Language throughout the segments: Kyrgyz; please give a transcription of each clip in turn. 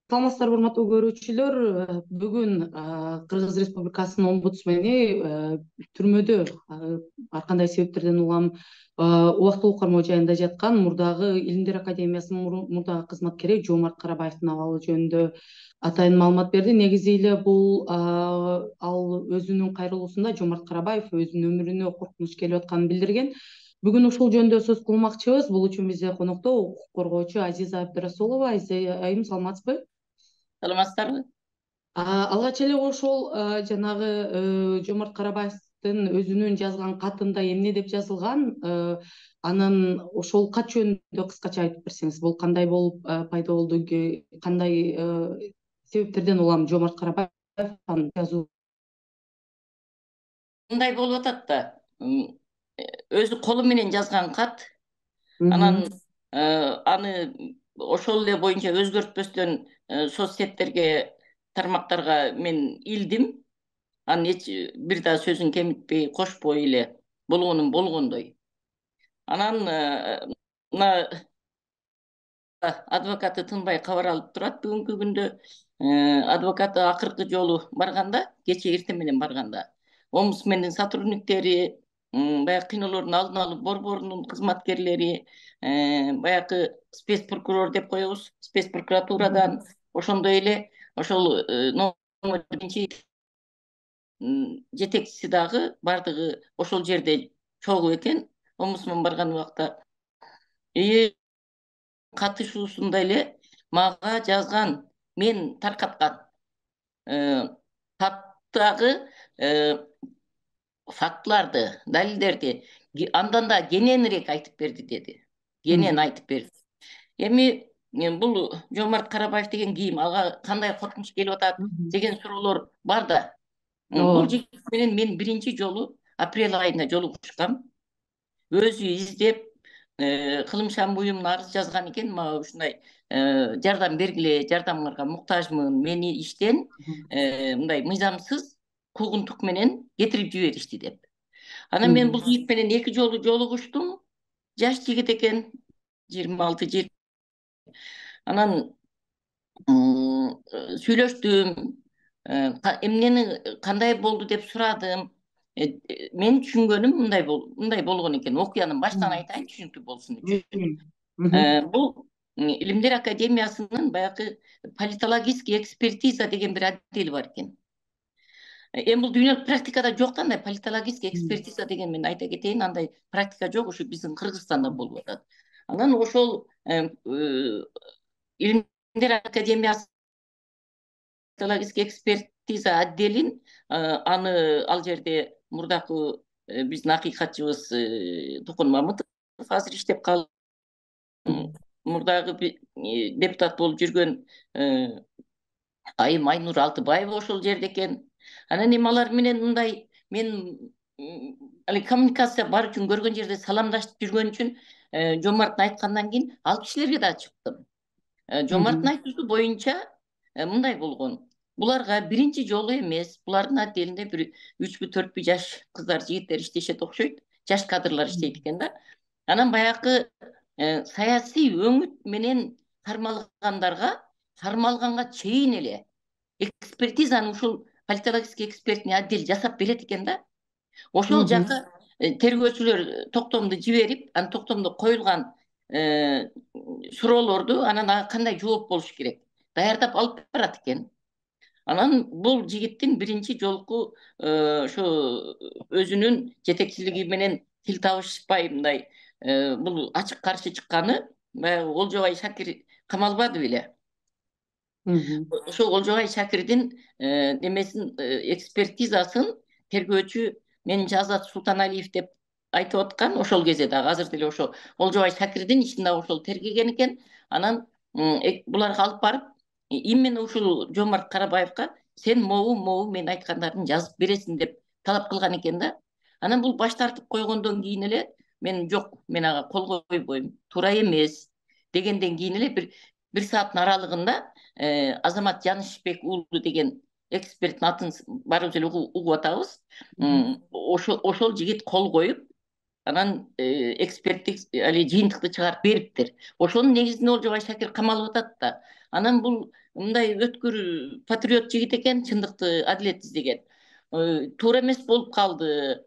Саламатсыздарбы, урматтуу көрүүчүлөр. Бүгүн Кыргыз Республикасынын омбудсмени түрмөдө ар кандай себептерден улам убактылуу кармоо жайында жаткан мурдагы Илимдер Академиясынын мурдагы кызматкери Жоомарт Карабаевдин абалы жөнүндө атайын маалымат берди. Негизи эле бул ал өзүнүн кайрылуусунда Жоомарт Карабаев өзүнүн өмүрүнө коркунуч келип атканын билдирген. Бүгүн ушул жөнүндө сөз кылмакчыбыз. Бул үчүн бизде конокто укук коргоочу Азиза Абдрасулова. Азиза айым, саламатсызбы? Саламатсыздарбы? Алгач эле ошол жанагы Жоомарт Карабаевдин өзүнүн жазган катында эмне деп жазылган? Анан ошол кат жөнүндө кыскача айтып берсеңиз, бул кандай болуп пайда болду, кандай себептерден улам Жоомарт Карабаев аны жазуу? Мындай болуп атат да. Өзү колу менен жазган кат. Анан аны ошол эле боюнча өзгөртпөстөн соц сеттерге, тармактарга мен илдим. Анын эч бир да сөзүн кемитпей, кошпой эле болгонун болгондой. Анан мына адвокаты тынбай кабар алып турат бүгүнкү күндө. Адвокаты акыркы жолу барганда, кечээ эртең менен барганда, омбудсмендин сотрудниктери, баягы кыйноолордун алдын алуу борборунун кызматкерлери, баягы спецпрокурор деп коебуз, спецпрокуратурадан, ошондой эле ошол номер биринчи жетекчиси дагы бардыгы ошол жерде чогуу экен. Омбудсмен барган убакта катышуусунда эле мага жазган, мен таркаткан каттагы фактыларды, далилдерди андан да кененирээк айтып берди деди. Кенен айтып берди. Эми бул Жоомарт Карабаев деген ким, ага кандай коркунуч келип атат деген суроолор бар да. Бул жигит менен мен биринчи жолу апрель айында жолугушкам. Өзү издеп, кылымшан буюмуна арыз жазган экен, мага ушундай жардам бергиле, жардамыңарга муктажмын, мени иштен мындай мыйзамсыз куугунтук менен кетирип жиберишти деп. Анан мен бул жигит менен 2 жолу жолугуштум. Жаш жигит экен, 26 Анан сүйлөштүм, эмнени кандай болду деп сурадым. Мен түшүнгөнүм мындай болгон экен. Окуянын баштан айтайын, түшүнүктүү болсун үчүн. Бул Илимдер Академиясынын баягы политологический экспертиза деген бир отдели бар экен. Эми бул дүйнөлүк практикада жок да, андай политологический экспертиза деген, мен айта кетейин, андай практика жок, ушу биздин Кыргызстанда болуп атат. Анан ошол Илимдер Академиясы политологический экспертиза отделин аны ал жерде мурдакы биздин акыйкатчыбыз Тукун Мамытов азыр иштеп калды. Мурдагы депутат болуп жүргөн Айым Айнур Алтыбаева ошол жерде экен. Анан эми алар менен мындай мен коммуникация бар үчүн, көргөн жерде саламдашып жүргөн үчүн Жоомарттын айткандан кийин ал кишилерге да чыктым. Жоомарттын айтуусу боюнча мындай болгон. Буларга биринчи жолу эмес, булардын отделинде бир 3-4 жаш кыздар, жигиттер иштешет окшойт. Жаш кадрлар иштейт экен да. Анан баягы саясий өңүт менен кармалганга чейин эле экспертизаны ушул политологический экспертный отдел жасап берет экен да. Ошол жака тергөөчүлөр токтомду жиберип, анан токтомдо коюлган суроолорду анан кандай жооп болуш керек даярдап алып барат экен. Анан бул жигиттин биринчи жолку ошо өзүнүн жетекчилиги менен тил табышпай мындай бул ачык каршы чыкканы, баягы Олжобай Шакир камалбады беле. Ошо Олжобай Шакирдин немесин, экспертизасын тергөөчү менин Азат Султаналиев деп айтып аткан. Ошол кезде дагы азыр деле ошо Олжобай Шакирдин ишин дагы ошол тергеген экен. Анан буларга алып барып, именно ушул Жоомарт Карабаевга сен могу мен айткандарын жазып бересиң деп талап кылган экен да. Анан бул баш тартып койгондон кийин эле мен жок, мен ага кол койбойм, туура эмес дегенден кийин эле бир сааттын аралыгында Азамат Жанышбек уулу деген эксперттин атын баарыбыз эле угуп атабыз. Ошол жигит кол коюп, анан эксперттик жыйынтыкты чыгарып бериптир. Ошонун негизинде Олжобай Шакир камалып атат да. Анан бул мындай өткүр патриот жигит экен, чындыкты, адилет издеген. Туура эмес болуп калды.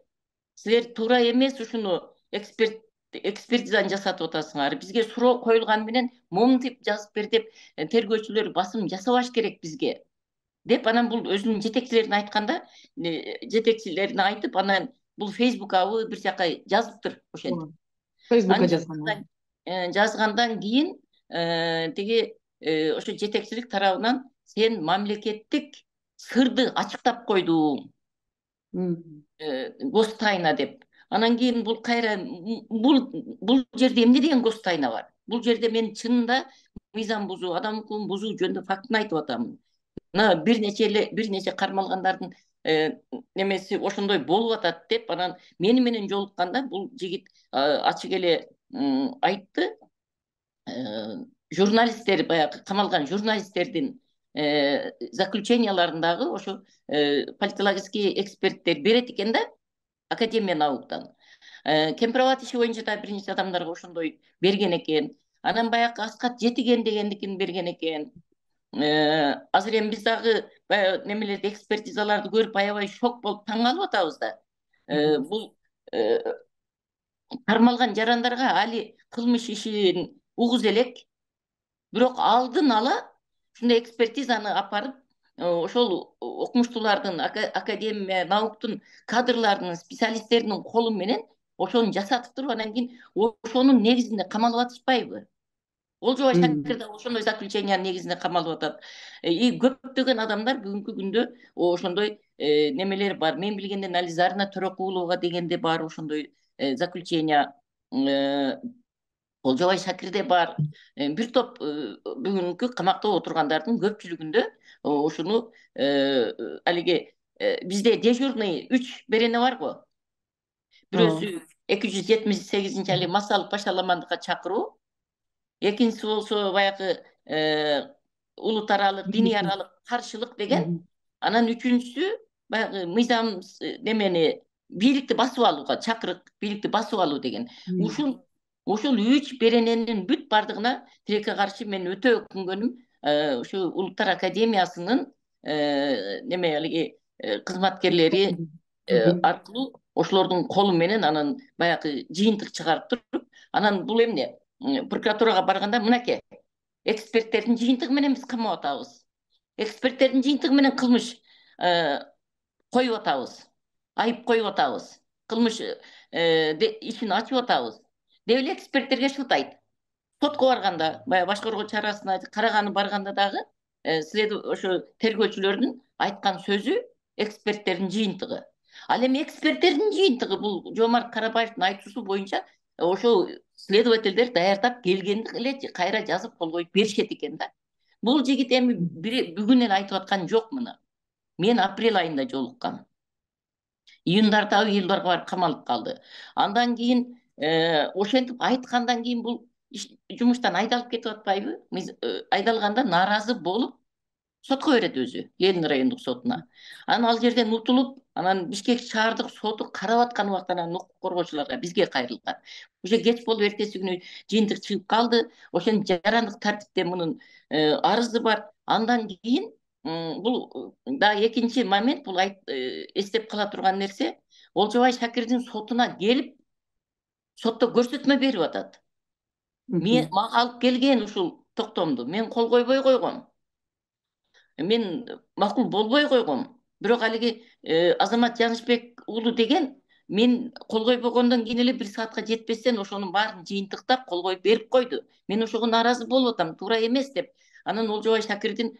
Силер туура эмес ушуну экспертизаны жасатып атасыңар. Бизге суроо коюлган менен моминтип жазып бер деп тергөөчүлөр басым жасабаш керек бизге деп, анан бул өзүнүн жетекчилерине айтканда, жетекчилерине айтып, анан бул Фейсбукабы бир жака жазыптыр ошентип. Фейсбукка Анан жазгандан кийин тиги ошо жетекчилик тарабынан сен мамлекеттик сырды ачыктап койдуң, гостайна деп. Анан кийин бул кайра бул жерде эмне деген гостайна бар? Бул жерде мен чынында мыйзам бузуу, адам укугун бузуу жөнүндө фактын айтып атамын. Мына бир нече кармалгандардын немеси ошондой болуп атат деп, анан мени менен жолукканда бул жигит ачык эле айтты. Журналисттер, баягы камалган журналисттердин заключенияларындагы ошо политологический эксперттер берет экен да, Академия науктан. Кемпирабад иши боюнча да бир нече адамдарга ошондой берген экен. Анан баягы Аскат Жетиген дегендикин берген экен. Азыр эми биз дагы баягы немелерди, экспертизаларды көрүп аябай шок болуп таң калып атабыз да. Бул кармалган жарандарга али кылмыш ишин угуз элек, бирок алдын ала ушундай экспертизаны апарып, ошол окумуштуулардын, Академия науктун кадрларынын, специалисттеринин колу менен ошону жасатып туруп, анан кийин ошонун негизинде камалып атышпайбы? Олжобай Шакир да ошондой заключениянын негизинде камалып атат. Көптөгөн адамдар бүгүнкү күндө ошондой немелер бар. Мен билгенден али Зарина Төрөкулова дегенде бар ошондой заключения. Олжобай Шакирде бар. Бир топ бүгүнкү камакта отургандардын көпчүлүгүндө ушуну алиги бизде дежурный 3 берене бар го. Бирөөсү 278 али массалык башаламандыкка чакыруу. Экинчиси болсо баягы улут аралык, диний аралык каршылык деген. Анан үчүнчүсү баягы мыйзам немени бийликти басып алууга чакырык, бийликти басып алуу деген. Ушул 3 берененин бүт бардыгына тилекке каршы мен өтө өкүнгөнүм. Ушу Улуттар Академиясынын неме алиги кызматкерлери аркылуу ошолордун колу менен анан баягы жыйынтык чыгарып туруп, анан бул эмне? Прокуратурага барганда мынакей эксперттердин жыйынтыгы менен биз камап атабыз. Эксперттердин жыйынтыгы менен кылмыш коюп атабыз. Айып коюп атабыз. Кылмыш ишин ачып атабыз. Деп эле эксперттерге шылтайт. Сотко барганда, баягы башкаруу чарасына караганы барганда дагы ошо тергөөчүлөрдүн айткан сөзү эксперттердин жыйынтыгы. Ал эми эксперттердин жыйынтыгы бул Жомарт Карабаевдин айтуусу боюнча ошол следовательдер даярдап келгенди эле кайра жазып кол коюп беришет экен да. Бул жигит эми бүгүн эле айтып аткан жок муну. Мен апрель айында жолуккам. Июндарда, июлдарга барып камалып калды. Андан кийин ошентип айткандан кийин бул жумуштан айдалып кетип атпайбы? Айдалганда нааразы болуп сотко берет өзү, Ленин райондук сотуна. Анан ал жерден утулуп, анан Бишкек шаардык соту карап аткан убакта анан укук коргоочуларга бизге кайрылган. Уже кеч болуп эртеси күнү жыйынтык чыгып калды. Ошентип жарандык тартипте мунун арызы бар. Андан кийин бул да экинчи момент, бул эстеп кала турган нерсе, Олжобай Шакирдин сотуна келип сотто көрсөтмө берип атат. Мага алып келген ушул токтомду мен кол койбой койгом. Мен макул болбой койгом. Бирок алиги Азамат Жанышбек уулу деген мен кол койбогондон кийин эле 1 саатка жетпестен ошонун баарын жыйынтыктап кол коюп берип койду. Мен ошого нааразы болуп атам, туура эмес деп. Анан Олжобай Шакирдин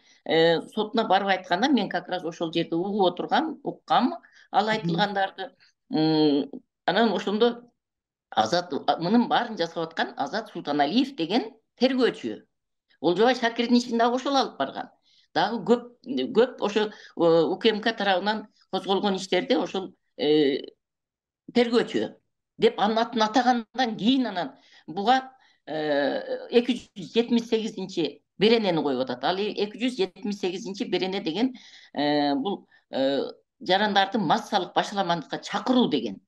сотуна барып айтканда мен как раз ошол жерде угуп отургам, уккам ал айтылгандарды. Анан ошондо мунун баарын жасап аткан Азат Султаналиев деген тергөөчү. Олжобай Шакирдин ишин дагы ошол алып барган. Дагы көп ошо УКМК тарабынан козголгон иштерде ошол тергөөчү деп анын атын атагандан кийин анан буга 278 беренени коюп атат. Ал 278 берене деген бул жарандарды массалык башаламандыкка чакыруу деген.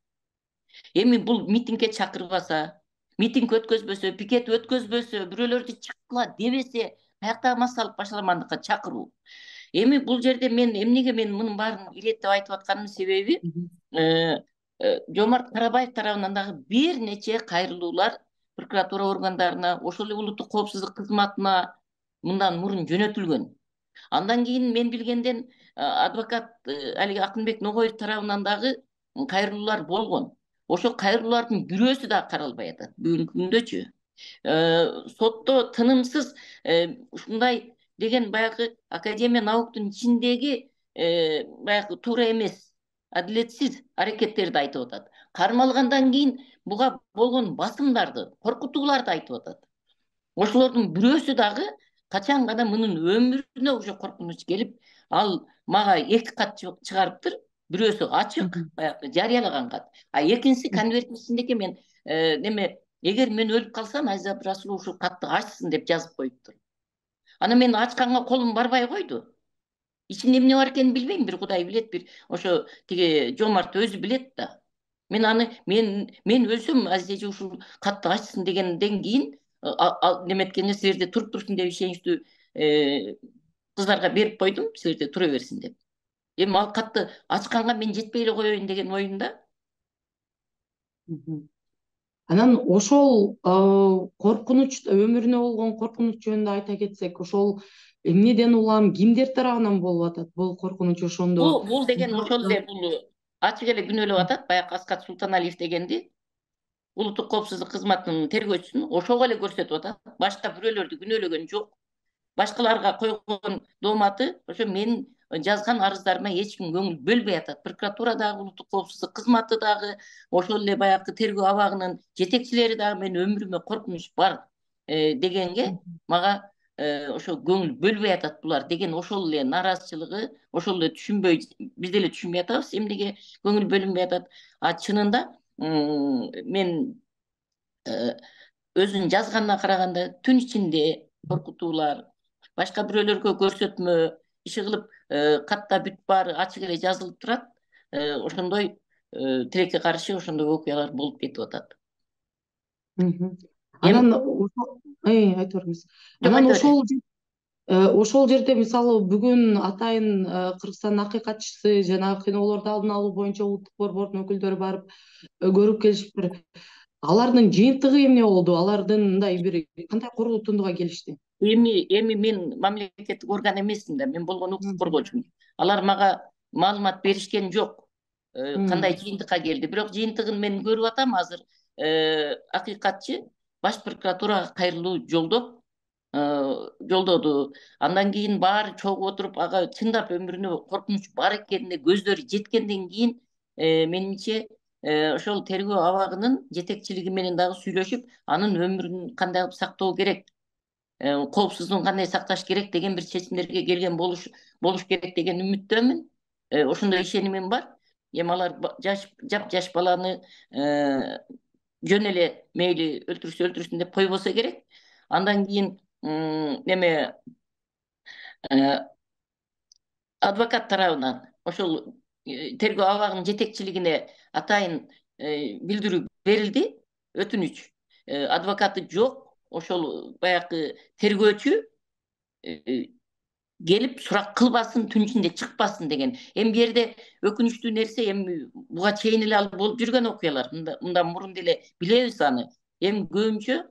Эми бул митингге чакырбаса, митинг өткөзбөсө, пикет өткөзбөсө, бирөөлөрдү чыккыла дебесе, каяктагы массалык башаламандыкка чакыруу. Эми бул жерде эмнеге мен мунун баарын иреттеп айтып атканымдын себеби Жомарт Карабаев тарабынан дагы бир нече кайрылуулар прокуратура органдарына, ошол эле улуттук коопсуздук кызматына мындан мурун жөнөтүлгөн. Андан кийин мен билгенден адвокат алиги Акынбек Ногоев тарабынан дагы кайрылуулар болгон. Ошол кайрылуулардын бирөөсү дагы каралбай атат бүгүнкү күндөчү. Сотто тынымсыз ушундай деген баягы Академия науктун ичиндеги баягы туура эмес, адилетсиз аракеттерди айтып атат. Кармалгандан кийин буга болгон басымдарды, коркутууларды айтып атат. Ошолордун бирөөсү дагы качан гана мунун өмүрүнө уже коркунуч келип, ал мага 2 кат чыгарыптыр. Бирөөсү ачык, баягы жарыялаган кат. А экинчиси конверттин ичиндеги мен неме эгер мен өлүп калсам, Азиз Абдрасулов ушул катты ачсын деп жазып коюптур. Ана мен ачканга колум барбай койду. Ичинде эмне бар экенин билбейм, бир Кудай билет, бир ошо тиги Жомарт өзү билет да. Мен аны мен өлсөм Азиз эже ушул катты ачсын дегенден кийин неметкенде силерде туруп турсун деп ишеничтүү кыздарга берип койдум, силерде тура берсин деп. Эми ал катты ачканга мен жетпей эле коеюн деген оюмда. Анан ошол коркунуч, өмүрүнө болгон коркунуч жөнүндө айта кетсек, ошол эмнеден улам кимдер тарабынан болуп атат бул коркунуч ошондо? Бул деген ошол эле бул ачык эле күнөөлөп атат. Баягы Аскат Султаналиев дегенди улуттук коопсуздук кызматынын тергөөчүсүн ошого эле көрсөтүп атат. Башка бирөөлөрдү күнөөлөгөн жок. Башкаларга койгон дооматы ошо мен жазган арыздарыма эч ким көңүл бөлбөй атат. Прокуратура дагы, улуттук коопсуздук кызматы дагы, ошол эле баягы тергөө абагынын жетекчилери дагы мен өмүрүмө коркунуч бар дегенге мага ошо көңүл бөлбөй атат булар деген ошол эле нааразычылыгы, ошол эле түшүнбөй, биз деле түшүнбөй атабыз эмнеге көңүл бөлүнбөй атат. А чынында мен өзүнүн жазганына караганда түн ичинде коркутуулар, башка бирөөлөргө көрсөтмө, иши кылып катта бүт баары ачык эле жазылып турат. Ошондой тилекке каршы ошондой окуялар болуп кетип атат. Анан айта бериңиз. Анан ошол жерде мисалы бүгүн атайын Кыргызстандын акыйкатчысы жана кыйноолорду алдын алуу боюнча улуттук борбордун өкүлдөрү барып көрүп келишиптир. Алардын жыйынтыгы эмне болду? Алардын мындай бир кандай корутундуга келишти? Эми мен мамлекеттик орган эмесмин да, мен болгон укук коргоочумун. Алар мага маалымат беришкен жок. Кандай жыйынтыкка келди. Бирок жыйынтыгын мен көрүп атам азыр. Акыйкатчы баш прокуратурага кайрылуу жолдоду. Андан кийин баары чогуу отуруп ага чындап өмүрүнө коркунуч бар экенине көздөрү жеткенден кийин менимче ошол тергөө абагынын жетекчилиги менен дагы сүйлөшүп, анын өмүрүн кандай кылып сактоо керек, коопсуздугун кандай сакташ керек деген бир чечимдерге келген болуш керек деген үмүттөмүн. Ошондой ишенимим бар. Эми алар жаш баланы жөн эле мейли өлтүрсүн деп койбосо керек. Андан кийин адвокат тарабынан ошол тергөө абагынын жетекчилигине атайын билдирүү берилди, өтүнүч. Адвокаты жок, ошол баягы тергөөчү келип сурак кылбасын, түн ичинде чыкпасын деген. Эми бу жерде өкүнүчтүү нерсе, эми буга чейин эле ал болуп жүргөн окуялар. Мындан мурун деле билебиз аны. Эми көбүнчө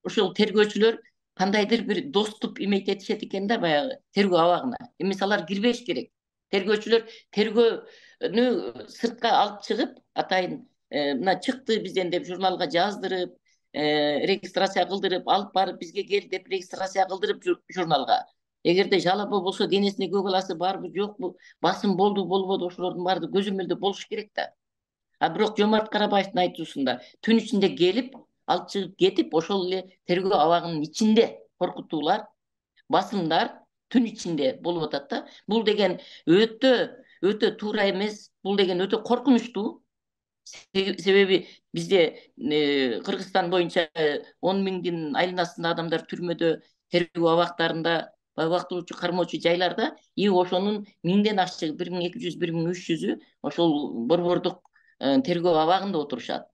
ошол тергөөчүлөр кандайдыр бир доступ имететишет экен да баягы тергөө абагына. Эмес алар кирбеш керек. Тергөөчүлөр тергөөнү сыртка алып чыгып, атайын мына чыкты бизден деп журналга жаздырып, регистрация кылдырып, алып барып бизге кел деп регистрация кылдырып журналга. Эгерде жалоба болсо, денесинде көк аласы барбы жокпу, басым болду болбоду, ошолордун баары көзөмөлдө болуш керек да. А бирок Жомарт Карабаевдин айтуусунда түн ичинде келип, алып чыгып кетип, ошол эле тергөө абагынын ичинде коркутуулар, басымдар түн ичинде болуп атат да. Бул деген өтө туура эмес, бул деген өтө коркунучтуу. Себеби бизде Кыргызстан боюнча 10 миңдин айылын астында адамдар түрмөдө, тергөө абактарында, убактылуучу кармоочу жайларда, и ошонун 1000ден ашчы, 1200, 1300-ү ошол борбордук тергөө абагында отурушат.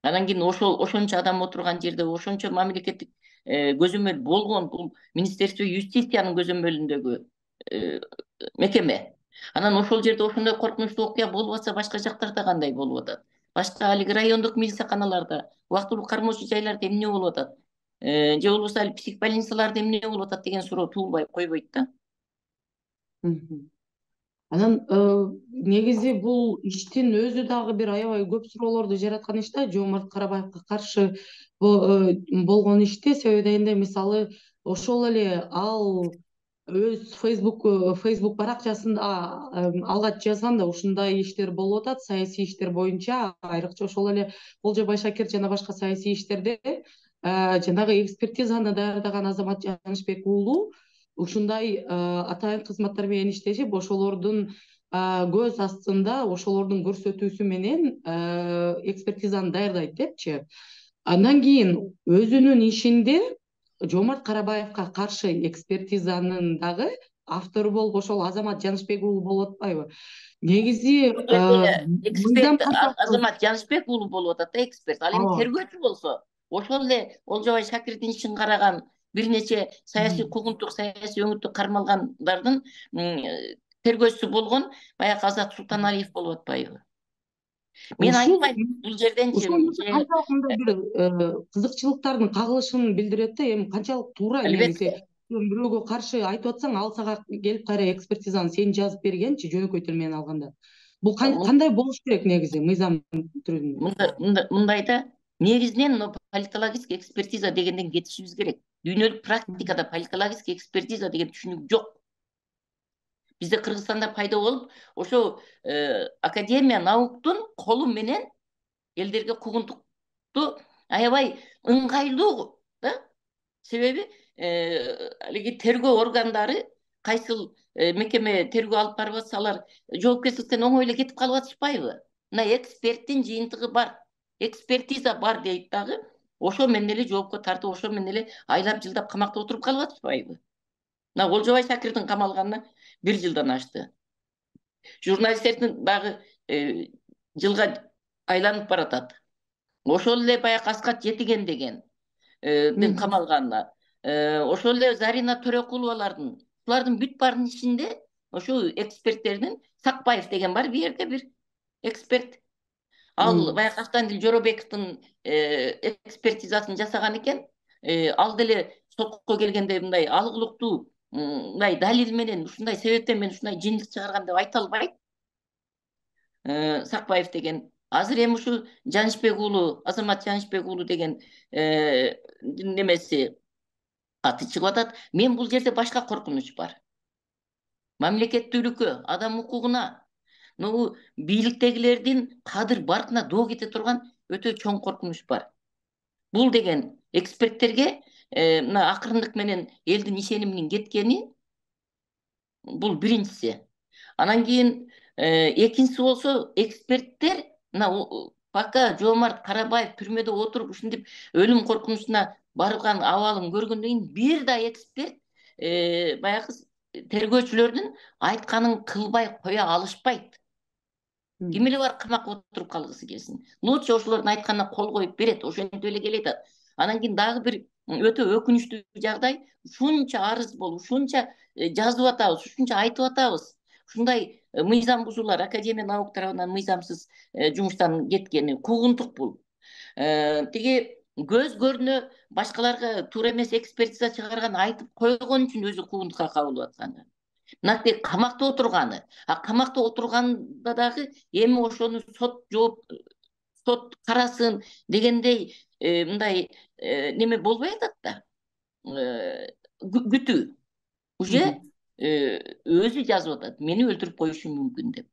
Анан кийин ошончо адам отурган жерде, ошончо мамлекеттик көзөмөл болгон бул Министерство юстициянын көзөмөлүндөгү мекеме. Анан ошол жерде ошондой коркунучтуу окуя болуп атса, башка жактарда кандай болуп атат? Башка алиги райондук милицияканаларда, убактылуу кармоочу жайларда эмне болуп атат? Же болбосо ал психбольницаларда эмне болуп атат деген суроо туулбай койбойт да. Анан негизи бул иштин өзү дагы бир аябай көп суроолорду жараткан иш да, Жоомарт Карабаевка каршы болгон иште. Себеби дегенде, мисалы, ошол эле ал өз фейсбук баракчасында алгач жазганда ушундай иштер болуп атат, саясий иштер боюнча, айрыкча ошол эле Болжобай Шакир жана башка саясий иштерде жанагы экспертизаны даярдаган Азамат Жанышбек уулу ушундай атайын кызматтар менен иштешип, ошолордун көз астында, ошолордун көрсөтүүсү менен экспертизаны даярдайт депчи. Андан кийин өзүнүн ишинде Жоомарт Карабаевка каршы экспертизанын дагы автору болуп ошол Азамат Жанышбек уулу болуп атпайбы? Негизи эксперт Азамат Жанышбек уулу болуп атат да, эксперт. Ал эми тергөөчү болсо, ошол эле Болжобай Шакирдин ишин караган бир нече саясий куугунтук, саясий өңүттү кармалгандардын тергөөчүсү болгон баягы Азат Султаналиев болуп атпайбы? Мен айтпайм бул жерденчи канчалык мындай бир кызыкчылыктардын кагылышын билдирет да. Эми канчалык туура негизи, бирөөгө каршы айтып атсаң, ал сага келип кайра экспертизаны сен жазып бергенчи, жөнөкөй тил менен алганда. Бул кандай болуш керек негизи мыйзам түрүндө? Мындай да, негизинен политологический экспертиза дегенден кетишибиз керек. Дүйнөлүк практикада политологический экспертиза деген түшүнүк жок. Бизде Кыргызстанда пайда болуп, ошо Академия науктун колу менен элдерге куугунтукту аябай ыңгайлуу да. Себеби алиги тергөө органдары, кайсыл мекеме тергөө алып барып атса, алар жоопкерчиликтен оңой эле кетип калып атышпайбы? Мына эксперттин жыйынтыгы бар, экспертиза бар дейт дагы, ошо менен эле жоопко тартып, ошо менен эле айлап жылдап камакта отуруп калып атышпайбы? Мына Болжобай Шакирдин камалганына 1 жылдан ашты. Журналисттердин дагы жылга айланып баратат. Ошол эле баягы Аскат Жетиген деген камалганына, ошол эле Зарина Төрөкуловалардын, булардын бүт баарынын ичинде ошо эксперттердин Сакбаев деген бар, бир жерде бир эксперт. Ал баягы Актандил Жоробековдун экспертизасын жасаган экен. Ал деле сотко келгенде мындай алгылыктуу, мындай далил менен, ушундай себептен мен ушундай жиндик чыгарган деп айта албайт. Сакбаев деген. Азыр эми ушу Жанышбек уулу, Азамат Жанышбек уулу деген немеси аты чыгып атат. Мен бул жерде башка коркунуч бар. Мамлекеттүүлүккө, адам укугуна, бийликтегилердин кадыр баркына доо кете турган өтө чоң коркунуч бар. Бул деген эксперттерге мына акырындык менен элдин ишениминин кеткени, бул биринчиси. Анан кийин экинчиси болсо, эксперттер мына пока Жоомарт Карабаев түрмөдө отуруп ушинтип өлүм коркунучуна барган абалын көргөндөн кийин бир да эксперт баягы тергөөчүлөрдүн айтканын кылбай кое алышпайт. Ким эле бар камакка отуруп калгысы келсин. Лучше ошолордун айтканына кол коюп берет, ошентип эле келет. Анан кийин дагы бир өтө өкүнүчтүү жагдай, ушунча арыз болуп, ушунча жазып атабыз, ушунча айтып атабыз. Ушундай мыйзам бузуулар, Академия наук тарабынан мыйзамсыз жумуштан кеткени куугунтук бул. Тиги көз көрүнө башкаларга туура эмес экспертиза чыгарган айтып койгон үчүн өзү куугунтукка кабылып атканы. Мынакей камакта отурганы. Камакта отурганда дагы эми ошону сот карасын дегендей мындай неме болбой атат да. Күтүү. Уже өзү жазып атат, мени өлтүрүп коюшу мүмкүн деп.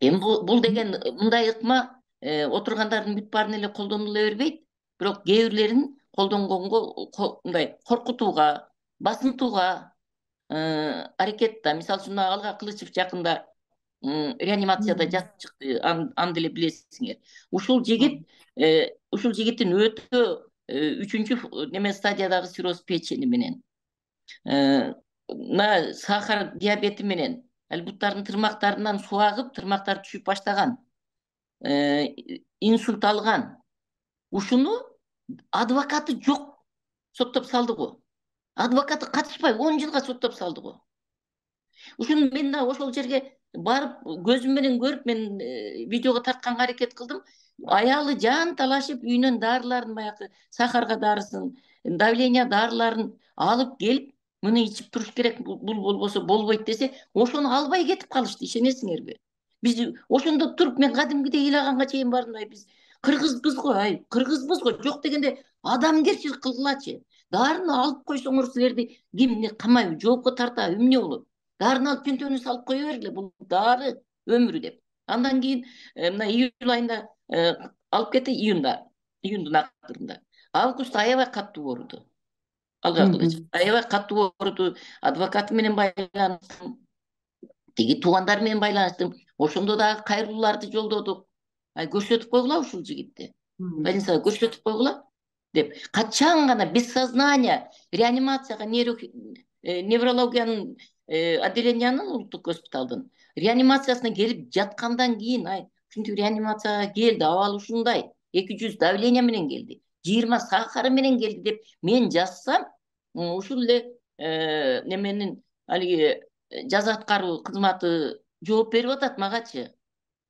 Эми бул деген мындай ыкма отургандардын бүт баарын эле колдонула бербейт, бирок кээ бирлерин колдонгонго мындай коркутууга, басынтууга аракет да. Мисалы үчүн Алга Кылычев жакында реанимацияда жатып чыкты, аны деле билесиңер. Ушул жигиттин өтө 3-чү неме стадиядагы цирроз печени менен, мына сахар диабети менен, буттардын тырмактарынан суу агып, тырмактары түшүп баштаган, инсульт алган, Ушуну адвокаты жок соттоп салды го. Адвокаты катышпай 10 жылга соттоп салды го. Ушуну мен да ошол жерге барып көзүм менен көрүп, мен видеого тартканга аракет кылдым. Аялы жан талашып үйүнөн дарыларын, баягы сахарга дарысын, давление дарыларын алып келип, муну ичип туруш керек, бул болбосо болбойт десе, ошону албай кетип калышты, ишенесиңерби? Биз ошондо туруп, мен кадимкидей ыйлаганга чейин бардым, биз кыргызбыз го, кыргызбыз го, жок дегенде адамгерчилик кылгылачы. Дарыны алып койсоңор силерди ким эмне камайбы, жоопко тартабы, эмне болот? Дарыны алып чөнтөгүнө салып кое бергиле, бул дары өмүрү деп. Андан кийин мына июль айында алып кетти, июндун акырында. Августта аябай каттуу ооруду. Аябай каттуу ооруду. Адвокаты менен байланыштым, тиги туугандар менен байланыштым. Ошондо дагы кайрылууларды жолдодук. Көрсөтүп койгула ушул жигитти. Больницага көрсөтүп койгула деп. Качан гана без сознания реанимацияга, неврологиянын отделениянын, улуттук госпиталдын реанимациясына келип жаткандан кийин, ушинтип реанимацияга келди, абалы ушундай, 200 давление менен келди, 20 сахары менен келди деп мен жазсам, ушул эле неменин алиги жаза аткаруу кызматы жооп берип атат магачы.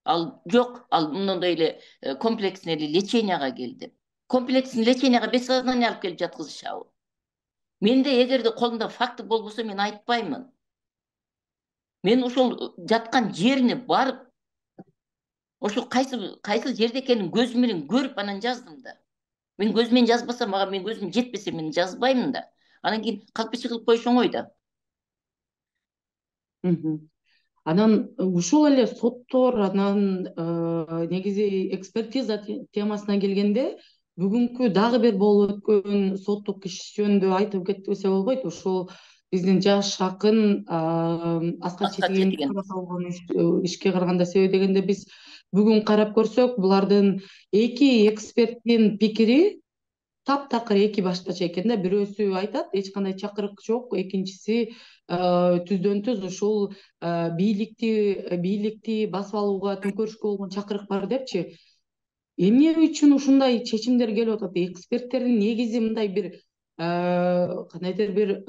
Ал жок, ал мындай эле комплексный леченияга келди. Комплексный леченияга без сознания алып келип жаткызышабы? Менде эгерде колумда факты болбосо, мен айтпаймын. Мен ошол жаткан жерине барып, ошо кайсы жерде экенин көзүм менен көрүп анан жаздым да. Мен көзүм менен жазбасам, мага мен көзүм жетпесе мен жазбаймын да. Анан кийин калпычы кылып коюш оңой да. Анан ушул эле соттор, анан негизи экспертиза темасына келгенде, бүгүнкү дагы бир болуп өткөн соттук иш жөнүндө айтып кетпесе болбойт. Ошол биздин жаш акын Аскар Четигенге каратылган ишке караганда. Себеби дегенде, биз бүгүн карап көрсөк, булардын эки эксперттин пикири таптакыр эки башкача экен да. Бирөөсү айтат эч кандай чакырык жок, экинчиси түздөн түз ушул бийликти басып алууга, төңкөрүшкө болгон чакырык бар депчи. Эмне үчүн ушундай чечимдер келип атат? Эксперттердин негизи мындай бир кандайдыр бир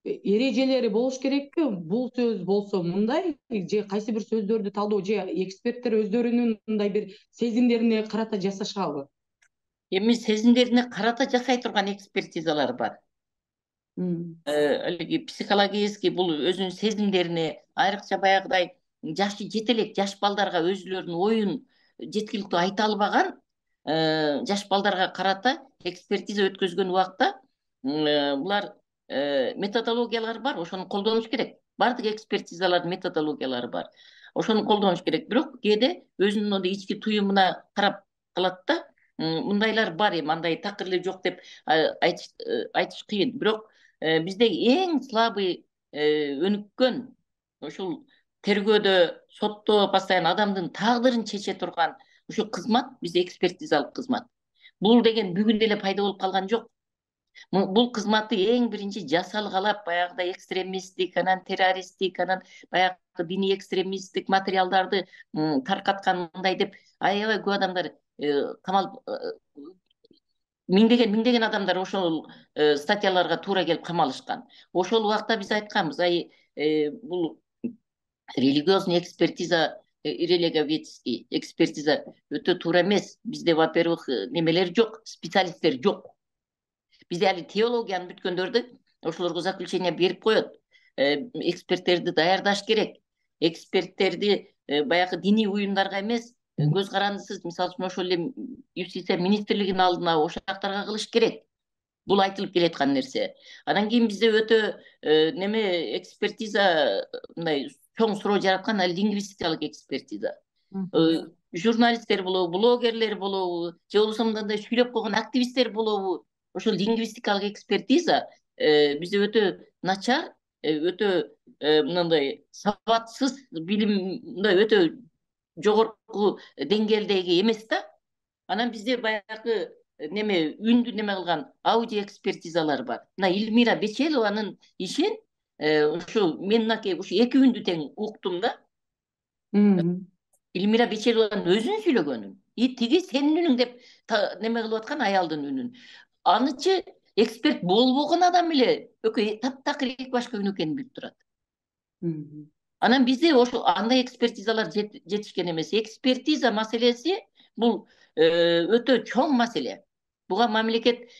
эрежелери болуш керекпи? Бул сөз болсо мындай, же кайсы бир сөздөрдү талдоо, же эксперттер өздөрүнүн мындай бир сезимдерине карата жасашабы? Эми сезимдерине карата жасай турган экспертизалар бар. Алиги психологический, бул өзүнүн сезимдерине, айрыкча баягыдай жашы жете элек жаш балдарга өзүлөрүнүн оюн жеткиликтүү айта албаган жаш балдарга карата экспертиза өткөзгөн убакта булар методологиялар бар, ошону колдонуш керек. Бардык экспертизалардын методологиялары бар. Ошону колдонуш керек. Бирок кээде өзүнүн ички туюмуна карап калат да. Мындайлар бар, эми андай такыр эле жок деп айтыш кыйын. Бирок бизде эң слабый өнүккөн, ушул тергөөдө, сотто постоянно адамдын тагдырын чече турган ушу кызмат бизде экспертизалык кызмат. Бул деген бүгүн эле пайда болуп калган жок. Бул кызматты эң биринчи жасалгалап, баягыдай экстремисттик, анан террористтик, анан баягы диний экстремисттик материалдарды таркаткан, мындай деп аябай көп адамдар камалып, миңдеген адамдар ошол статьяларга туура келип камалышкан. Ошол убакта биз айтканбыз, бул религиозный экспертиза, религиоведческий экспертиза өтө туура эмес. Бизде, во-первых, немелер жок, специалисттер жок. Бизде али теологияны бүткөндөрдү ошолорго заключение берип коет. Эксперттерди даярдаш керек. Эксперттерди баягы диний уюмдарга эмес, көз карандысыз, мисалы үчүн ошол эле юстиция министрлигинин алдына, ошол жактарга кылыш керек. Бул айтылып келаткан нерсе. Анан кийин бизде өтө неме экспертиза, мындай чоң суроо жараткан лингвистикалык экспертиза. Журналисттер болобу, блогерлер болобу, же болбосо мындай сүйлөп койгон активисттер болобу, ошол лингвистикалык экспертиза бизде өтө начар, өтө мындай сабатсыз, билим мындай өтө жогорку деңгээлдеги эмес да. Анан бизде баягы неме үндү неме кылган аудио экспертизалар бар. Мына Эльмира Бечелованын ишин ушу мен мынакей ушу эки үндү тең уктум да. Эльмира Бечелованын өзүнүн сүйлөгөнүн тиги сенин үнүң деп неме кылып аткан аялдын үнүн. Анычы эксперт болбогон адам эле экөө таптакыр эки башка үн экенин билип турат. Анан бизде ошо андай экспертизалар жетишкен эмес. Экспертиза маселеси бул өтө чоң маселе. Буга мамлекет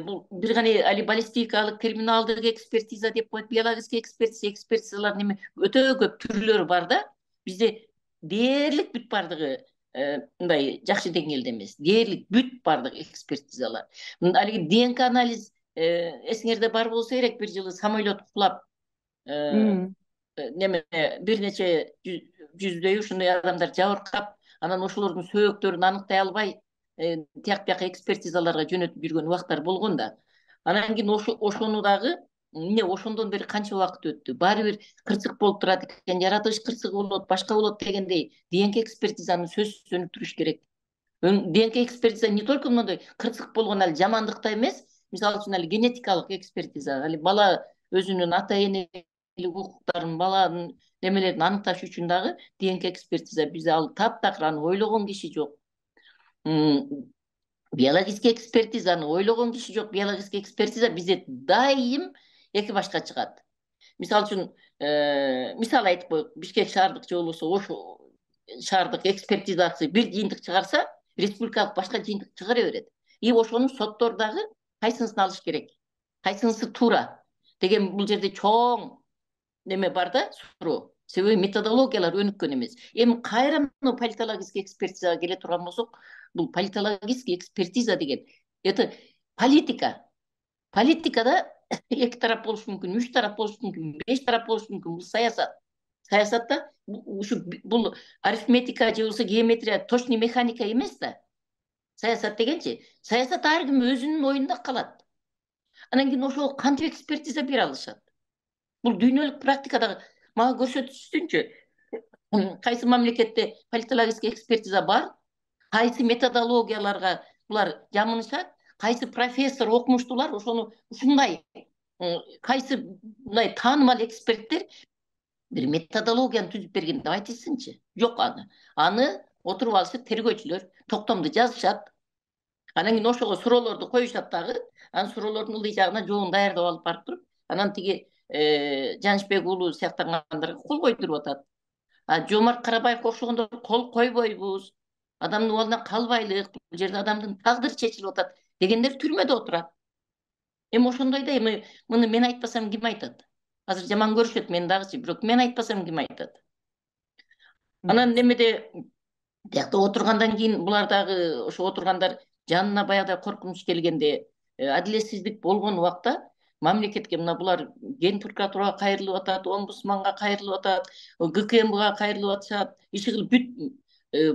бул бир гана али баллистикалык, криминалдык экспертиза деп коет, биологический экспертизалар неме өтө көп түрлөрү бар да. Бизде дээрлик бүт бардыгы мындай жакшы деңгээлде эмес. Дээрлик бүт бардыгы экспертизалар. Алиги ДНК анализ эсиңерде бар болсо керек, бир жылы самолет кулап неме бир нече жүздөй ушундай адамдар жабыркап, анан ошолордун сөөктөрүн аныктай албай тияк бияка экспертизаларга жөнөтүп жүргөн убактар болгон да. Анан кийин ошону дагы эмне ошондон бери канча убакыт өттү, баары бир кырсык болуп турат экен, жаратылыш кырсыгы болот, башка болот дегендей ДНК экспертизаны сөзсүз өнүктүрүш керек. ДНК экспертиза не только мындай кырсык болгон али жамандыкта эмес, мисалы үчүн али генетикалык экспертиза, али бала өзүнүн ата энелик укуктарын, баланын немелерин аныкташ үчүн дагы ДНК экспертиза бизде ал таптакыр, аны ойлогон киши жок. Биологический экспертизаны ойлогон киши жок. Биологический экспертиза бизде дайым эки башка чыгат. Мисалы үчүн мисал айтып коелук, Бишкек шаардык же болбосо Ош шаардык экспертизасы бир жыйынтык чыгарса, республикалык башка жыйынтык чыгара берет. И ошону соттор дагы кайсынысын алыш керек, кайсынысы туура деген бул жерде чоң неме бар да, суроо. Себеби методологиялар өнүккөн эмес. Эми кайра политологический экспертизага келе турган болсок, бул политологический экспертиза деген это политика. Политикада эки тарап болуш мүмкүн, 3 тарап болуш мүмкүн, 5 тарап болуш мүмкүн. Бул саясат. Саясатта ушу бул арифметика же болбосо геометрия, точный механика эмес да. Саясат дегенчи, саясат ар ким өзүнүн оюнда калат. Анан кийин ошого кантип экспертиза бере алышат? Бул дүйнөлүк практикада мага көрсөтүшүнчө, кайсы мамлекетте политологический экспертиза бар, кайсы методологияларга булар жамынышат, кайсы профессор окумуштуулар ошону ушундай, кайсы мындай таанымал эксперттер бир методологияны түзүп берген деп айтылсынчы. Жок, аны отуруп алышып тергөөчүлөр токтомду жазышат. Анан кийин ошого суроолорду коюшат дагы. Анан суроолордун ылдый жагына жообун даярдап алып барып туруп, анан тиги Жанышбек уулу сыяктагандарга кол койдуруп атат. Жомарт Карабаевге окшогондор кол койбойбуз, адамдын абалынан калбайлык, бул жерде адамдын тагдыры чечилип атат дегендер түрмөдө отурат. Эми ошондойда эми муну мен айтпасам ким айтат? Азыр жаман көрүшөт мени дагычы, бирок мен айтпасам ким айтат? Анан немеде тиякта отургандан кийин булар дагы ошо отургандар жанына баягыдай коркунуч келгенде, адилетсиздик болгон убакта мамлекетке мына булар Ген прокуратурага кайрылып атат, омбудсманга кайрылып атат, ГКМга кайрылып атышат, иши кылып бүт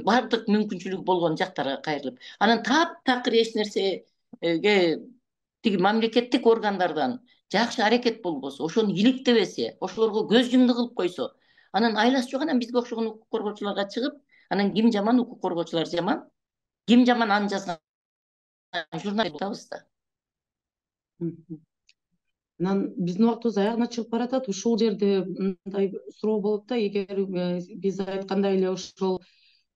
бардык мүмкүнчүлүгү болгон жактарга кайрылып. Анан таптакыр эч нерсеге тиги мамлекеттик органдардан жакшы аракет болбосо, ошону иликтебесе, ошолорго көз жумду кылып койсо, анан айласы жок, анан бизге окшогон укук коргоочуларга чыгып, анан ким жаман, укук коргоочулар жаман, ким жаман аны жазган журналист табыз да. Анан биздин убактыбыз аягына чыгып баратат. Ушул жерде мындай суроо болот да, эгер биз айткандай эле ошол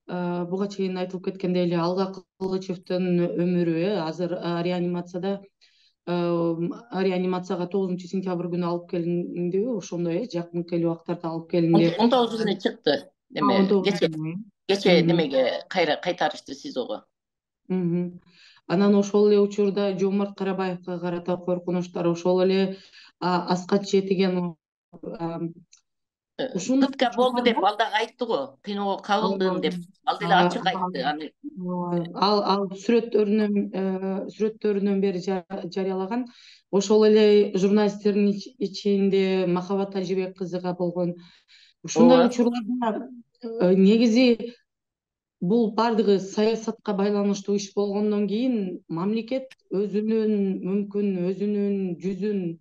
буга чейин айтылып кеткендей эле Алга Кылычевдин өмүрү азыр реанимацияга 9-сентябрь күнү алып келиндиби, ошондой жакынкы эле убактарда алып келинди. 19 күнү чыкты. Кече немеге кайтарышты СИЗОго. Анан ошол эле учурда Жомарт Карабаевга карата коркунучтар, ошол эле Аскат Четиген пытка болду деп ал дагы айтты го, кыйноого кабылдым деп. Ал деле ачык айтты. Ал сүрөттөрүнөн бери жарыялаган. Ошол эле журналисттердин ичинде Махабат Тажибек кызыга болгон. Ушундай учурларда негизи бул бардыгы саясатка байланыштуу иш болгондон кийин мамлекет өзүнүн мүмкүн өзүнүн жүзүн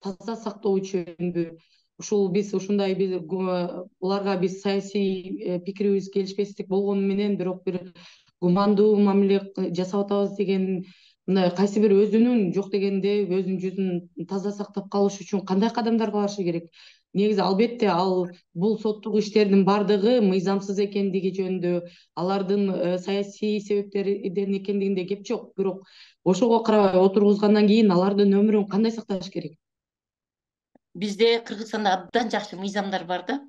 таза сактоо үчүнбү, ушул биз ушундай буларга биз саясий пикирибиз келишпестик болгону менен бирок бир гумандуу мамиле жасап атабыз деген, мындай кайсы бир өзүнүн жок дегенде өзүнүн жүзүн таза сактап калыш үчүн кандай кадамдарга барышы керек? негизи албетте бул соттук иштердин баардыгы мыйзамсыз экендиги жөнүндө, алардын саясий себептерден экендигинде кеп жок. Бирок ошого карабай отургузгандан кийин алардын өмүрүн кандай сакташ керек? Бизде Кыргызстанда абдан жакшы мыйзамдар бар да.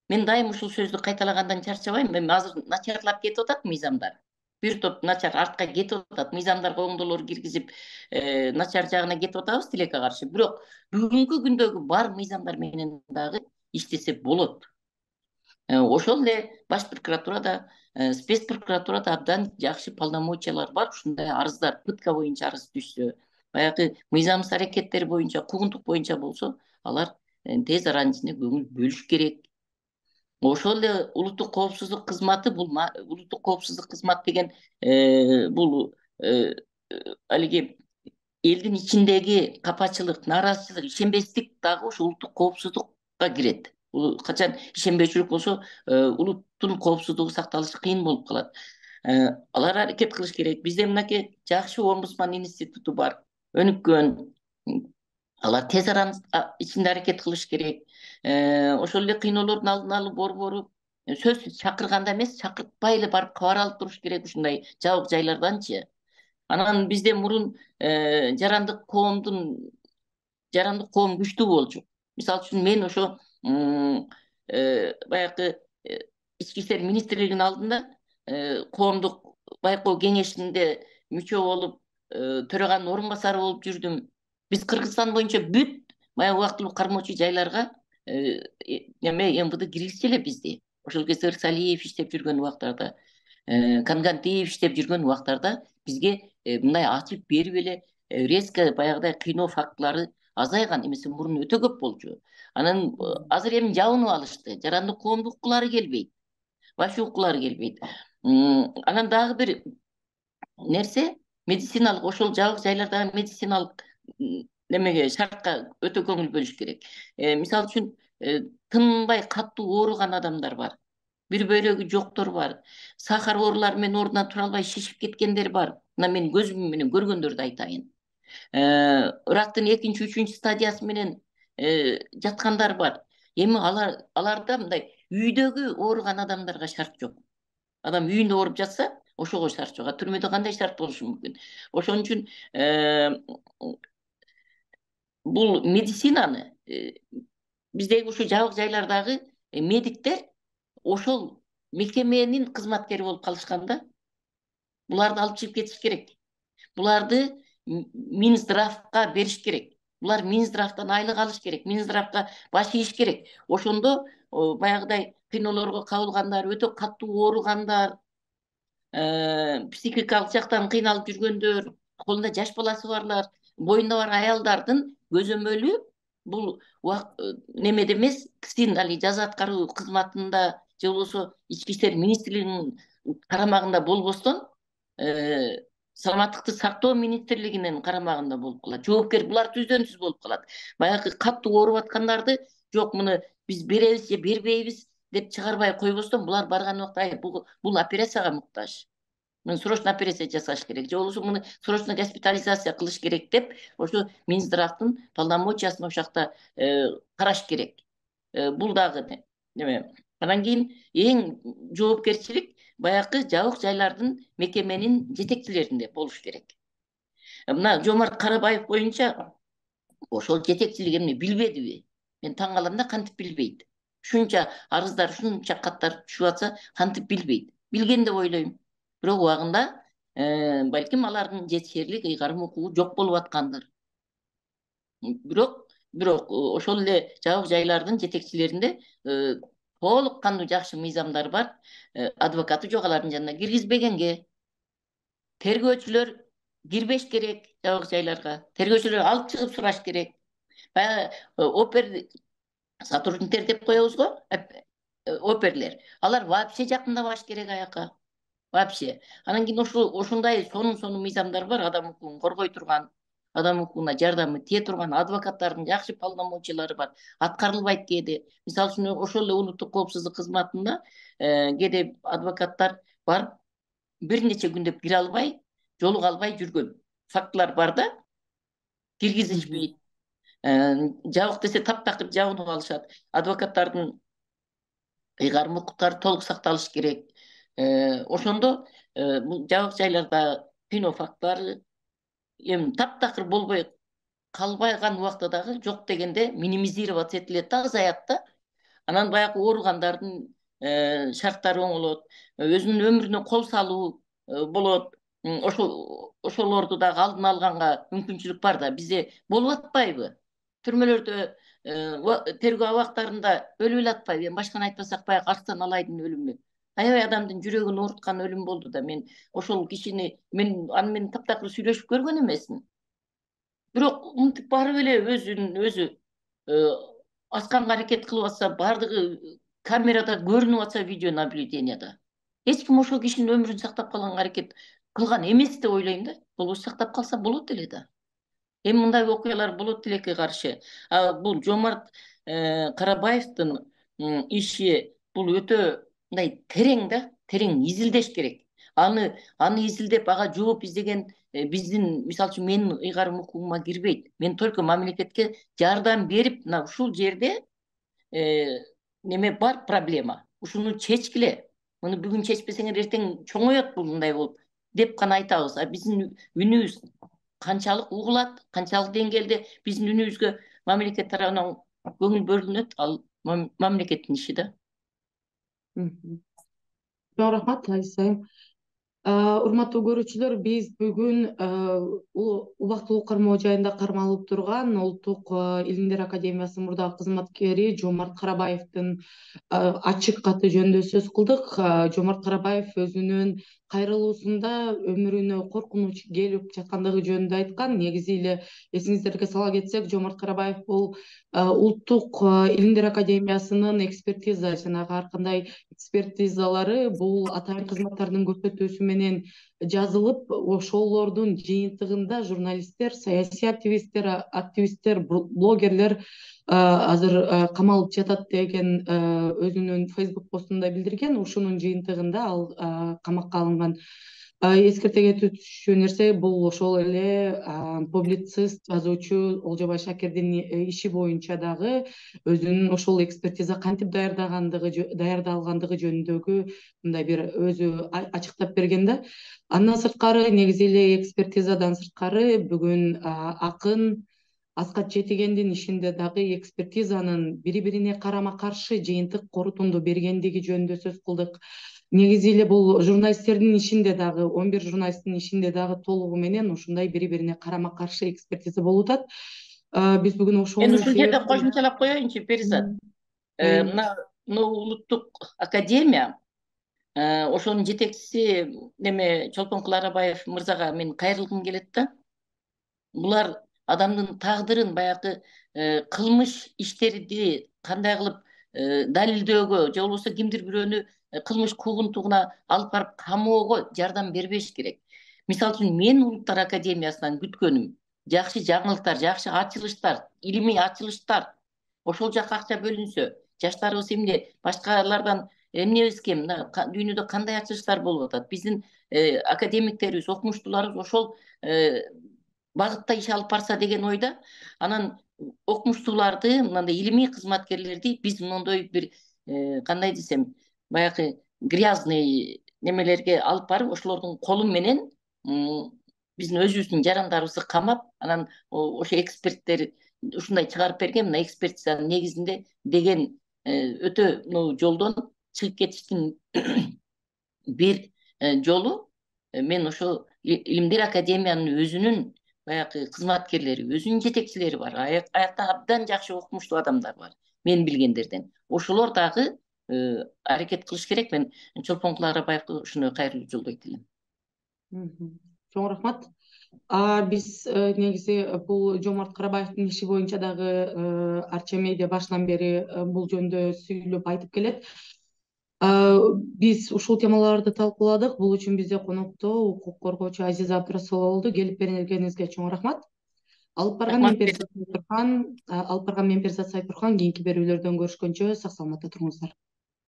Мен дайым ушул сөздү кайталагандан чарчабайм. Эми азыр начарлап кетип атат мыйзамдар. Бир топ начар артка кетип атат. Мыйзамдарга оңдолор киргизип, начар жагына кетип атабыз тилекке каршы. Бирок бүгүнкү күндөгү бар мыйзамдар менен дагы иштесе болот. Ошол эле баш прокуратурада, спец прокуратурада абдан жакшы полномочиялар бар. Ушундай арыздар, пытка боюнча арыз түшсө, баягы мыйзамсыз аракеттер боюнча, куугунтук боюнча болсо, алар тез аранын ичинде көңүл бөлүш керек. Ошол эле улуттук коопсуздук кызматы, бул улуттук коопсуздук кызмат деген бул алиги элдин ичиндеги капачылык, нааразычылык, ишенбестик дагы ошо улуттук коопсуздукка кирет. Качан ишенбөөчүлүк болсо, улуттун коопсуздугу сакталышы кыйын болуп калат. Алар аракет кылыш керек. Бизде мынакей жакшы омбудсман институту бар, өнүккөн. Алар тез аранын ичинде аракет кылыш керек. Ошол эле кыйноолордун алдын алуу борбору сөзсүз чакырганда эмес, чакыртпай эле барып кабар алып туруш керек ушундай жабык жайларданчы. Анан бизде мурун жарандык коом күчтүү болчу. Мисалы үчүн мен ошо баягы ички иштер министрлигинин алдында коомдук байкоо кеңешинде мүчө болуп, төраганын орун басары болуп жүрдүм. Биз Кыргызстан боюнча бүт баягы убактылуу кармоочу жайларга МВД киргизчү эле бизди. Ошол кезде Ырсалиев иштеп жүргөн убактарда, Кангантиев иштеп жүргөн убактарда бизге мындай ачып берип эле резко баягыдай кыйноо фактылары азайган, эмесе мурун өтө көп болчу. Анан азыр эми жабынып алышты. Жарандык коомдук укуклары келбейт. Вообще укуклары келбейт. Анан дагы бир нерсе, медициналык, ошол жабык жайлардагы медициналык немеге, шартка өтө көңүл бөлүш керек. Мисалы үчүн тынбай катуу ооруган адамдар бар. Бир бөйрөгү жоктор бар. Сахар оорулары менен ордунан тура албай шишип кеткендер бар. Мына мен көзүм менен көргөндөрдү айтайын. Рактын 2-3 стадиясы менен жаткандар бар. Эми аларда мындай үйдөгү ооруган адамдарга шарт жок. Адам үйүндө ооруп жатса, ошого шарт жок. Түрмөдө кандай шарт болушу мүмкүн? Ошон үчүн бул медицинаны биздеги ушу жабык жайлардагы медиктер ошол мекеменин кызматкери болуп калышканда, буларды алып чыгып кетиш керек. Буларды Минздравга бериш керек. Булар Минздравдан айлык алыш керек. Минздравга баш ийиш керек. Ошондо баягыдай кыйноолорго кабылгандар, өтө катуу ооругандар, психикалык жактан кыйналып жүргөндөр, колунда жаш баласы барлар, боюнда бар аялдардын көзөмөлү бул немеде эмес, кисин али жаза аткаруу кызматында же болбосо ички иштер министрлигинин карамагында болбостон, саламаттыкты сактоо министрлигинин карамагында болуп калат. Жоопкер булар түздөн-түз болуп калат. Баягы катуу ооруп аткандарды жок муну биз беребиз же бербейбиз деп чыгарбай койбостон, булар барган убакта бул операцияга муктаж. Муну срочно операция жасаш керек. Же болбосо муну срочно госпитализация кылыш керек деп, ошо Минздравдын полномочиясын ошол жакта караш керек. Бул дагы неме. Анан кийин эң жоопкерчилик баягы жабык жайлардын мекеменин жетекчилеринде болуш керек. Мына Жомарт Карабаев боюнча ошол жетекчилик эмне билбедиби? Мен таң калам да, кантип билбейт? Ушунча арыздар, ушунча каттар түшүп атса, кантип билбейт? Билген деп ойлойм. Бирок убагында балким алардын жетишерлик ыйгарым укугу жок болуп аткандыр. Бирок ошол эле жабык жайлардын жетекчилеринде толук кандуу жакшы мыйзамдар бар. Адвокаты жок алардын жанына киргизбегенге. Тергөөчүлөр кирбеш керек жабык жайларга. Тергөөчүлөр алып чыгып сураш керек. Баягы опер сотрудниктер деп коебуз го, оперлер. Алар вообще жакындабаш керек аяка. Вообще. Анан кийин ошондой сонун мыйзамдар бар, адам укугун коргой турган, адам укугуна жардамы тие турган адвокаттардын жакшы полномочиялары бар. Аткарылбайт кээде. Мисалы үчүн ошол эле улуттук коопсуздук кызматында кээде адвокаттар бар, бир нече күндөп кире албай, жолуга албай жүргөн фактылар бар да, киргизишпейт. Жабык десе таптакыр жабынып алышат. Адвокаттардын ыйгарым укуктары толук сакталыш керек. Ошондо бул жабык жайларда пинофактар эми таптакыр болбой калбаган убакта дагы жок дегенде минимизироваться этилет да, азаят да. Анан баягы ооругандардын шарттары оңолот, өзүнүн өмүрүнө кол салуу болот. Ошолорду дагы алдын алганга мүмкүнчүлүк бар да. Бизде болуп атпайбы? Түрмөлөрдө тергөө абактарында өлүп эле атпайбы? Эми башканы айтпасак, баягы Арстан Алайдын өлүмү аябай адамдын жүрөгүн ооруткан өлүм болду да. Мен ошол кишини аны менен таптакыр сүйлөшүп көргөн эмесмин. Бирок мынтип барып эле өзү асканга аракет кылып атса, бардыгы камерада көрүнүп атса, видео наблюденияда, эч ким ошол кишинин өмүрүн сактап калганга аракет кылган эмес деп ойлойм да. Болбосо сактап калса болот эле да. Эми мындай окуялар болот тилекке каршы. Бул Жомарт Карабаевдин иши бул өтө мындай терең да, терең изилдеш керек. Аны изилдеп ага жооп издеген биздин, мисалы үчүн, менин ыйгарым укугума кирбейт. Мен только мамлекетке жардам берип, мына ушул жерде неме бар, проблема. Ушуну чечкиле. Муну бүгүн чечпесеңер эртең чоңоет бул мындай болуп деп гана айтабыз. Биздин үнүбүз канчалык угулат, канчалык деңгээлде биздин үнүбүзгө мамлекет тарабынан көңүл бөлүнөт, ал мамлекеттин иши да. Чоң рахмат, Айса айым. Урматтуу көрүүчүлөр, биз бүгүн убактылуу кармоо жайында кармалып турган Улуттук Илимдер Академиясынын мурдагы кызматкери Жомарт Карабаевдин ачык каты жөнүндө сөз кылдык. Жомарт Карабаев өзүнүн кайрылуусунда өмүрүнө коркунуч келип жаткандыгы жөнүндө айткан. Негизи эле эсиңиздерге сала кетсек, Жомарт Карабаев бул Улуттук Илимдер Академиясынын экспертиза, жанагы ар кандай экспертизалары бул атайын кызматтардын көрсөтүүсү менен жазылып, ошолордун жыйынтыгында журналисттер, саясий активисттер, блогерлер азыр камалып жатат деген өзүнүн Facebook постунда билдирген. Ушунун жыйынтыгында ал камакка алынган. Эскерте кетүүчү нерсе, бул ошол эле публицист, жазуучу Олжобай Шакирдин иши боюнча дагы өзүнүн ошол экспертиза кантип даярдалгандыгы жөнүндөгү мындай бир өзү ачыктап берген да. Андан сырткары, негизи эле экспертизадан сырткары, бүгүн акын Аскат Жетигендин ишинде дагы экспертизанын бири-бирине карама-каршы жыйынтык корутунду бергендиги жөнүндө сөз кылдык. Негизи эле бул журналисттердин ишинде дагы, 11 журналисттин ишинде дагы толугу менен ушундай бири-бирине карама-каршы экспертиза болуп атат. Биз бүгүн ошону... Мен ушул жерде кошумчалап коеюнчу, Перизат. Мына Улуттук Академия, ошонун жетекчиси неме Чолпон Кыларабаев мырзага мен кайрылгым келет да. Булар адамдын тагдырын, баягы кылмыш иштерди кандай кылып далилдөөгө, же болбосо кимдир бирөөнү кылмыш куугунтугуна алып барып камоого жардам бербеш керек. Мисалы үчүн, мен Улуттар Академиясынан күткөнүм жакшы жаңылыктар, жакшы ачылыштар, илимий ачылыштар. Ошол жака акча бөлүнсө, жаштарыбыз эмне, башкалардан эмнебиз кем, дүйнөдө кандай ачылыштар болуп атат. Биздин академиктерибиз, окумуштууларыбыз ошол багытта иш алып барса деген ойда. Анан окумуштууларды, мындай илимий кызматкерлерди биз мондой бир кандай десем, баягы грязный немелерге алып барып, ошолордун колу менен биздин өзүбүздүн жарандарыбызды камап, анан ошо эксперттер ушундай чыгарып берген, мына экспертизанын негизинде деген өтө жолдон чыгып кетиштин бир жолу. Мен ошо Илимдер Академиянын өзүнүн баягы кызматкерлери, өзүнүн жетекчилери бар. Аякта абдан жакшы окумуштуу адамдар бар, мен билгендерден. Ошолор дагы аракет кылыш керек. Мен Чолпон Кыларабаевге ушуну кайрылуу жолдойт элем. Чоң рахмат. Биз негизи бул Жомарт Карабаевдин иши боюнча дагы Арча медиа башынан бери бул жөнүндө сүйлөп айтып келет. Биз ушул темаларды талкууладык. Бул үчүн бизде конокто укук коргоочу Азиза Абдрасулова болду. Келип бергениңизге чоң рахмат. Алып барган мен Перизат Сайтурхан. Кийинки берүүлөрдөн көрүшкөнчө сак саламатта туруңуздар.